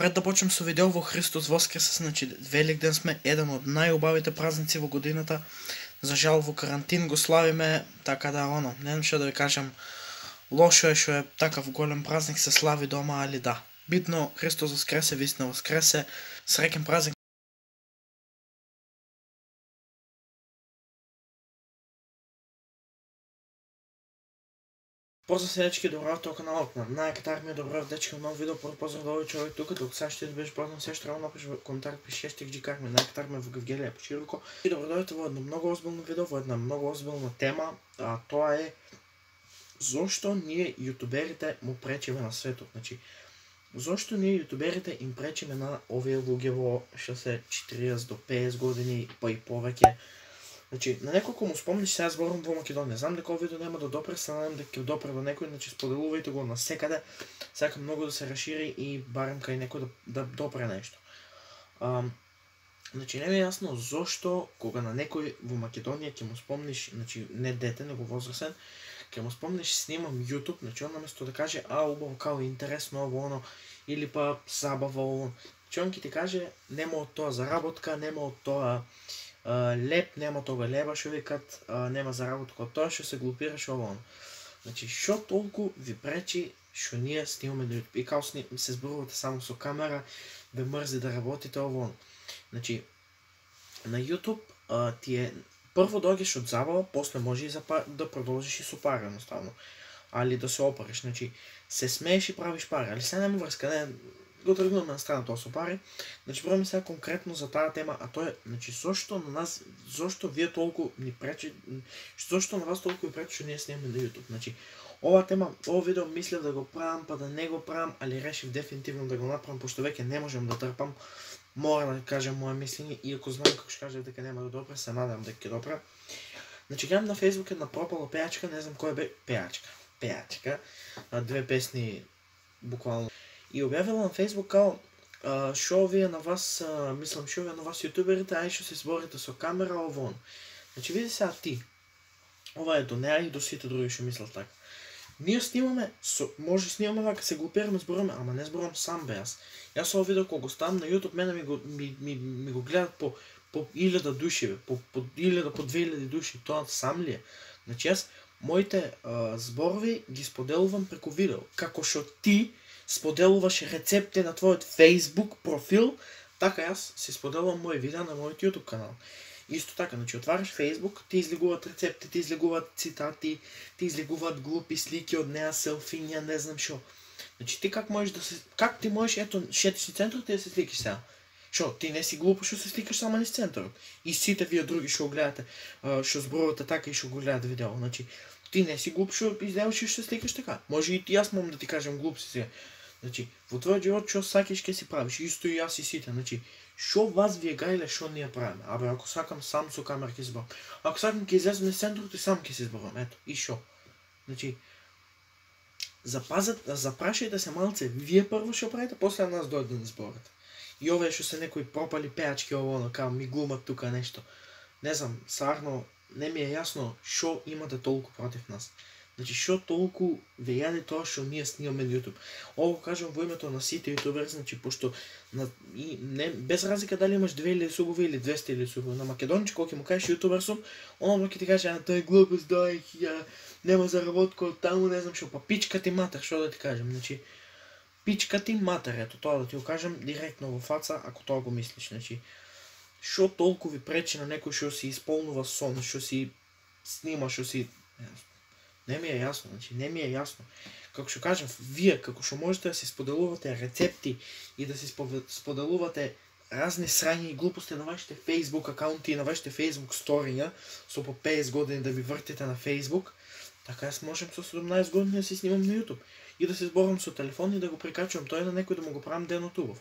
Пред да почнем со видео во Христос воскресе, значи Великден сме, еден од најубавите празници во годината. За жал во карантин го славиме, така да не знам што да ви кажам, лошо е што е такав голем празник се слави дома, али да. Битно Христос воскресе, вистина воскресе, среќен празник. Поздрав се дечки, добро тоа каналот на Најкатар ми е добро дечки, нов видео, поздрав да овој човек тука, док сега што ти беше познат, се што треба напиш во коментар, пиши #GCar ми Најкатар ми во Гевгелија почируко. И добро дојдете во едно многу озбилно видео, во една многу озбилна тема, а тоа е зошто ние јутуберите му пречиме на светот. Значи, зошто ние јутуберите им пречиме на овие луѓе во што се 40 до 50 години, па и повеќе. Значи, на неколку му спомниш, сега зборувам во Македонија. Знам дека овој видео нема да допре, се надам дека ќе допре до некој, значи споделувајте го насекаде. Сакам многу да се расшири и барем кај некој да допре нешто. Значи, не ми е јасно зошто кога на некој во Македонија ќе му спомниш, значи не дете, него возрасен, ќе му спомниш снимам YouTube, значи он наместо да каже убаво као интересно ово оно или па забава ово, значи он ќе ти каже нема од тоа заработка, нема од тоа леп, нема тога леба што викат, нема заработка од тоа што се глупираш ово оно. Значи, што толку ви пречи што ние снимаме на YouTube? И као се зборувате само со камера, ве мрзи да работите ово оно. Значи, на YouTube ти е прво доаѓаш од забава, после може и да продолжиш и со пара едноставно. Али да се опариш, значи се смееш и правиш пари, али сега нема врска, не го тргнуваме на страна тоа со пари. Значи пробаме сега конкретно за таа тема, а тоа е, значи зошто на нас, зошто вие толку ни пречи, зошто на вас толку ви пречи што ние снимаме на YouTube. Значи ова тема, ова видео мислев да го правам, па да не го правам, али решив дефинитивно да го направам, пошто веќе не можам да трпам. Мора да кажам моје мислење, иако знам како што кажав дека нема да допре, се надам дека ќе допре. Значи гледам на Facebook една пропала пејачка, не знам која бе, пејачка, две песни буквално. И објавила на Facebook као шо овие на вас, мислам шо овие на вас јутуберите, ај што се зборите со камера ово. Значи види сега ти. Ова е до неа и до сите други што мислат така. Ние снимаме, може снимаме вака, се глупираме, зборуваме, ама не зборувам сам бе јас. Јас ово видео кога го ставам на YouTube, мене ми го гледат по 1000 души, по 1000, по 2000 души, тоа сам ли е? Значи јас моите зборови ги споделувам преку видео, како што ти споделуваш рецепти на твојот Facebook профил, така јас се споделувам мои видеа на мојот YouTube канал. Исто така, значи отвараш Facebook, ти излегуваат рецепти, ти излегуваат цитати, ти излегуваат глупи слики од неа, селфиња, не знам шо. Значи ти как можеш да се, как ти можеш, ето, шетиш си центарот и да се сликаш сега? Шо, ти не си глупо што се сликаш само низ центарот. И сите вие други што го гледате, што зборувате така и што го гледате видео. Значи, ти не си глуп што излеваш и што се сликаш така. Може и јас мом да ти кажам глуп си сега. Значи, во твојот живот што сакаш ќе си правиш, исто и јас и сите. Значи, шо вас ви е гајле, шо ние правиме? Абе, ако сакам сам со камера ќе зборам. Ако сакам ќе излезам низ центарот и сам ќе си зборам. Ето, и шо? Значи, запрашајте се малце, вие прво што правите, после нас дојде да не зборите. И овие што се некои пропали пејачки ово, као ми глумат тука нешто. Не знам, сарно, не ми е јасно шо имате толку против нас. Значи, шо толку ве јаде тоа што ние снимаме на YouTube. Ово кажам во името на сите јутубери, значи, пошто без разлика дали имаш 2000 субови или 200 субови. На македонче, кога ќе му кажеш јутубер сум, оно ќе ти каже, тоа е глупост, нема заработка од таму, не знам шо, па пичка ти матер, шо да ти кажем. Значи, пичка ти матер, ето тоа да ти го кажам директно во фаца, ако тоа го мислиш. Значи, шо толку ви пречи на некој што си исполнува сон, што си снима, што си... Не ми е јасно, значи не ми е јасно. Како што кажам, вие како што можете да си споделувате рецепти и да си споделувате разни срања и глупости на вашите Facebook акаунти и на вашите Facebook сториња, со по 50 години да ви вртите на Facebook, така јас можем со 17 години да си снимам на YouTube и да се зборам со телефон и да го прикачувам тој на некој да му го правам денот убав.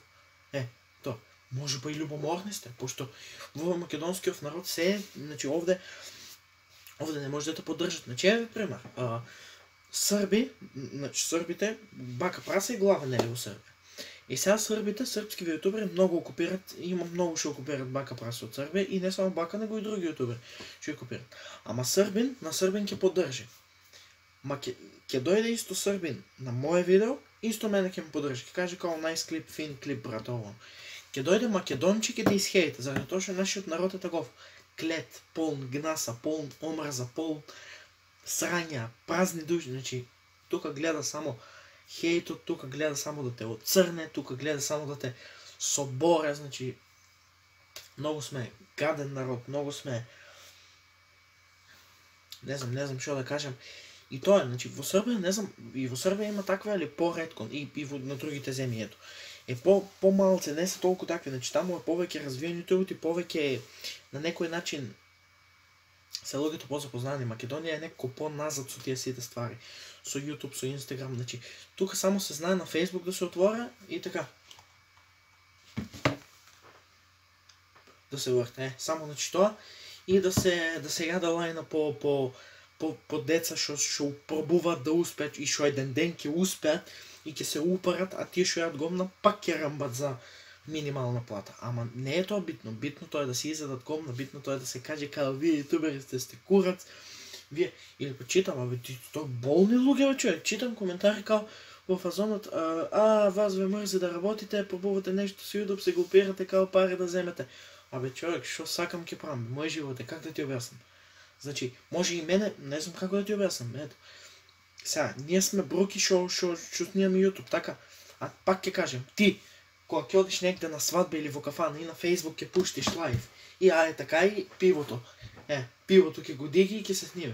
Тоа. Може па и љубоморни сте, пошто во македонскиот народ се, значи овде не може да те поддржат. Значи, еве пример. Срби, значи србите, бака праса и глава не е во Србија. И сега србите, српски јутубери многу окупират, има многу што окупират бака праса од Србија и не само бака, него и други јутубери што окупират. Ама србин, на србин ќе поддржи. Ќе дојде исто србин на моје видео исто мене ќе ме поддржи, ќе каже као најс клип, фин клип, брат, ово. Ќе дојде Македонче, ќе те исхејта, заради тоа што нашиот народ е таков клет, полн гнаса, полн омрза, полн срања, празни души, значи тука гледа само хејтот, тука гледа само да те оцрне, тука гледа само да те соборе, значи многу сме гаден народ, многу сме не знам што да кажам. И тоа е, значи во Србија, не знам, и во Србија има таква или поретко и на другите земји, ето. Е по-малце, не се толку такви, значи таму е повеќе развиени YouTube и повеќе на некој начин се луѓето позапознани. Македонија е некако по-назад со тие сите ствари. Со YouTube, со Instagram, значи тука само се знае на Facebook да се отвора и така. Да се врте, само значи тоа и да се јаде лајна по деца што пробуваат да успеат и што еден ден ќе успеат и ќе се упарат, а тие што јадат гомна пак ќе рамбат за минимална плата. Ама не е тоа битно. Битното е да се изедат гомна, битното е да се каже као вие ютуберите сте курац. Вие или почитам, абе ти тоа болни луѓе, човек. Читам коментари као во фазонот, вас ве мрзи да работите, пробувате нешто со YouTube, се глупирате као пари да земете. Абе човек, што сакам ќе правам? Мој живот е, как да ти објаснам? Значи, може и мене, не знам како да ти објаснам, ето. Сега, ние сме бруки што снимаме YouTube, така? А пак ќе кажем, ти, кога ќе одиш негде на свадба или во кафана и на Facebook ќе пуштиш лайв, и така и пивото. Пивото ќе го диги и ќе се сниме.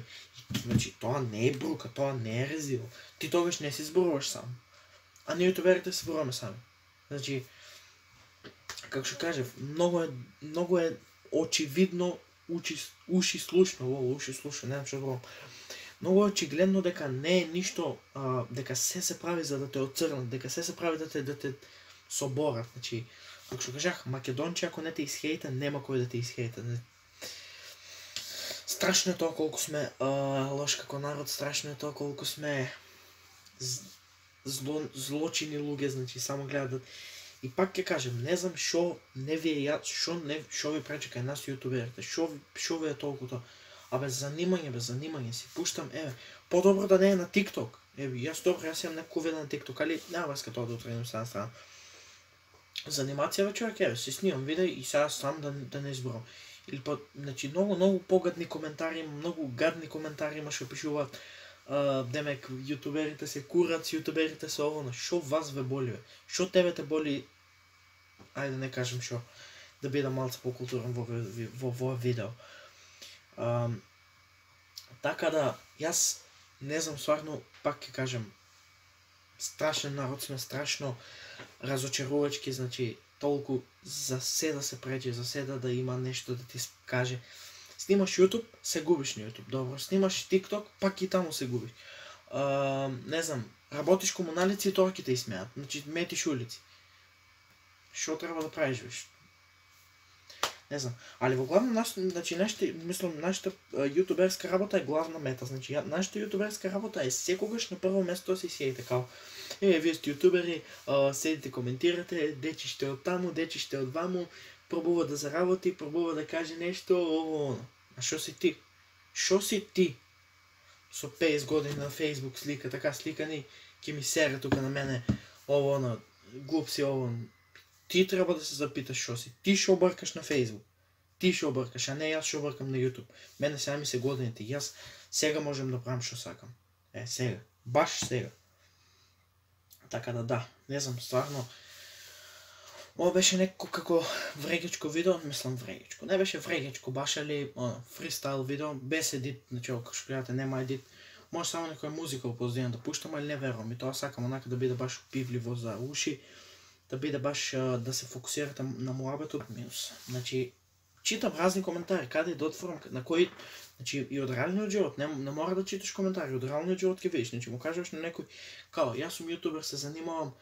Значи, тоа не е брука, тоа не е резиво. Ти тогаш не си зборуваш сам. А ние ютуберите се зборуваме сами. Значи, како што кажев, многу е очевидно уши слушно, не знам што зборувам. Многу е очигледно дека не е ништо, дека се прави за да те оцрнат, дека се прави да те соборат. Значи, како што кажах, Македонче ако не те исхејта, нема кој да те исхејта. Страшно е тоа колку сме лош како народ, страшно е тоа колку сме злочини луѓе, значи само гледат. И пак ќе кажем, не знам што не ви е што ви пречи кај нас ютуберите, што ви е толку тоа. А без занимање си пуштам, по-добро да не е на TikTok. Јас имам некој видео на TikTok, али нема врска тоа да отредим се на страна. За анимација човек, си снимам видео и сега сам да не изборам. Или па, значи, многу погадни коментари, многу гадни коментари има што пишуваат. Демек, ютуберите се курац, ютуберите се ово, шо вас ве боли, бе? Шо тебе те боли, ајде не кажем шо, да бидам малце по-културен во овој видео. Така да, јас не знам, стварно, пак ќе кажем, страшен народ сме, страшно разочарувачки, значи, толку за се да се пречи, за се да има нешто да ти каже. Снимаш YouTube, се губиш на YouTube, добро. Снимаш TikTok, пак и таму се губиш. Не знам, работиш комуналици и тоа ќе те исмеат. Значи, метиш улици. Што треба да правиш, веш? Не знам. Али во главно, значи, нашата ютуберска работа е главна мета. Значи, нашата ютуберска работа е секогаш на прво место да се сеете као вие сте ютубери, седите, коментирате, дечи ще од таму, дечи ще од ваму, пробува да заработи, пробува да каже нешто, ово. А шо си ти? Шо си ти? Со 50 години на Facebook слика, така сликани, ќе ми сере тука на мене, ово, глуп си, ово. Ти треба да се запиташ шо си. Ти шо обркаш на Facebook. Ти шо обркаш, а не јас шо обркам на YouTube. Мене сега ми се годините, јас сега можем да правам шо сакам. Сега. Баш сега. Така да, не знам, стварно, ова беше некако како врегечко видео, мислам врегечко, не беше врегечко, баш али фристайл видео, без едит, значи како што гледате нема едит, може само некоја музика опоздина да пуштам, али не верувам, и тоа сакам онака да биде баш пивливо за уши, да биде баш да се фокусирате на муабетот минус. Значи, читам разни коментари, каде да отворам, на кои, значи и од реалниот живот, не мора да читаш коментари, од реалниот живот ќе видиш, значи му кажеш на некој, као, јас сум јутубер, се занимавам,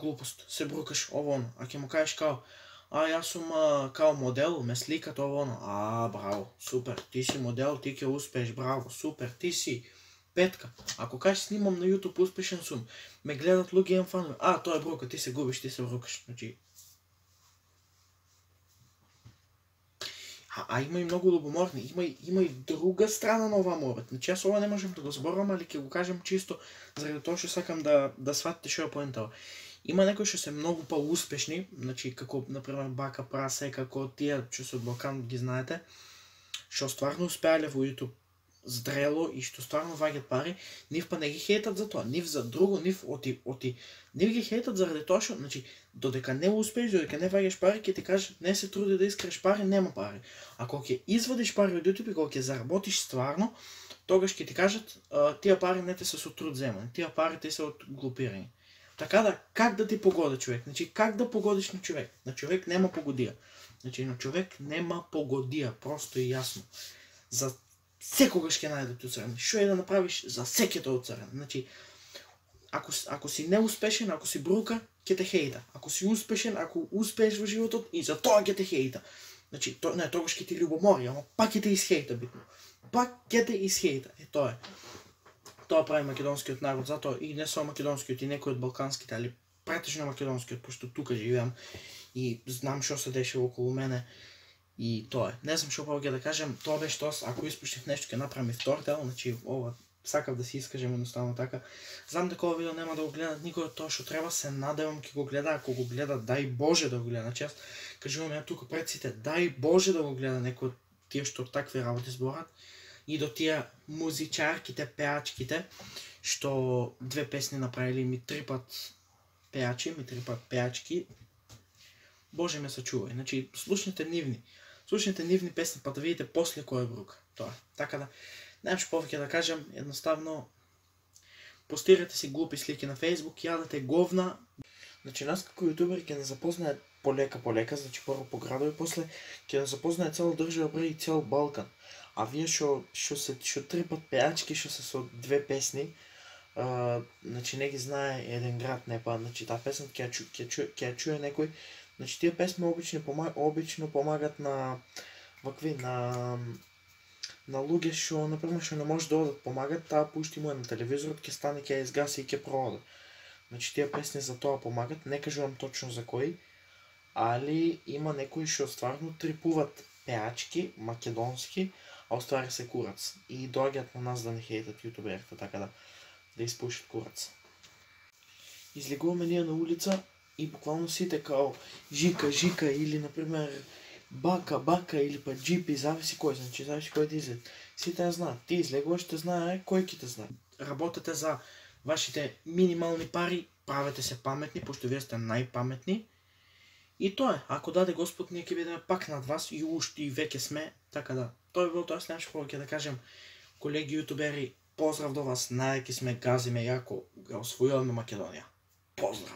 глупост, се брукаш, ово, а ќе му кажеш као, јас сум као модел, ме сликат, ово, браво, супер, ти си модел, ти ќе успееш, браво, супер, ти си петка. Ако кажеш снимам на YouTube, успешен сум, ме гледат луѓе, имам фанови, тоа е брука, ти се губиш, ти се брукаш, значи, А има и многу любоморни, има и друга страна на оваа муабет. Значи јас ова не можем да го зборувам, али ќе го кажем чисто заради тоа што сакам да сватите што е поентава. Има некои што се многу успешни, значи како например Бака Прасе, како тие што се од Балкан ги знаете, што стварно успеале во YouTube здрело и што стварно ваѓаат пари, нив па не ги хейтат за тоа, нив за друго, нив нив ги хейтат заради тоа што, значи, додека не успееш, додека не ваѓаш пари, ќе ти кажат не се труди да искреш пари, нема пари. А кога ќе извадиш пари од YouTube и кога ќе заработиш стварно, тогаш ќе ти кажат тие пари не те се со труд земани, тие пари те се од глупирање. Така да, как да ти погоди човек? Значи, как да погодиш на човек? На човек нема погодија. Значи, на човек нема погодија, просто и јасно. За секогаш ќе најде уцрен. Што е да направиш, за секето уцрен. Значи, ако си неуспешен, ако си брука, ќе те хејта. Ако си успешен, ако успееш во животот, и за тоа ќе те хејта. Значи, тогаш ќе ти љубомори, ама пак ќе те исхејта битно. Пак ќе те исхејта. Тоа е. Тоа прави македонскиот народ, затоа и не само македонскиот, и некои од балканските, али претежно македонскиот, пошто тука живеам и знам што се дешава околу мене. И тоа е. Не знам што повеќе да кажем, тоа беше тоа, ако испуштив нешто ќе направам и втор дел, значи ова сакав да се искажем едноставно така. Знам дека ова видео нема да го гледат никој од тоа што треба, се надевам ќе го гледа, ако го гледа, дај Боже да го гледа. Значи јас кажувам ја тука пред сите, дај Боже да го гледа некој од тие што такви работи зборат. И до тие музичарките, пеачките, што две песни направили, ми 3 пат пеачи, ми 3 пат пеачки. Боже ме сачувај. Значи, слушнете нивни песни, па да видите после кој е брук. Тоа. Така да, немам што повеќе да кажем, едноставно постирате си глупи слики на Facebook, јадете говна. Значи, нас како јутубери ќе не запознаат полека, значи прво по градови, после ќе не запознаат цела држава, бре и цел Балкан. А вие што 3 пат пеачки, што се со 2 песни, значи не ги знае еден град, не па, значи таа песна ќе ја чуе некој. Значи тие песни обично помагат на вакви на луѓе што например што не може да одат, помагат, таа пушти му на телевизорот, ќе стане, ќе изгаси и ќе прооде. Значи тие песни за тоа помагат, не кажувам точно за кои, али има некои што стварно трипуваат пеачки македонски, а оствари се курац. И доаѓаат на нас да не хейтат јутуберите, така да испушат курац. Излегуваме ние на улица и буквално сите као жика или например бака или па джипи, зависи кој, значи зависи кој да излезе. Сите ја знаат. Ти излегуваш, те знае кој ќе те знае. Работете за вашите минимални пари, правете се паметни, пошто вие сте најпаметни. И тоа е, ако даде Господ, ние ќе бидеме пак над вас и уште и веќе сме, така да. Тоа е било тоа, след повеќе да кажем, колеги јутубери, поздрав до вас, најаки сме, газиме јако, ја освојуваме Македонија. Поздрав!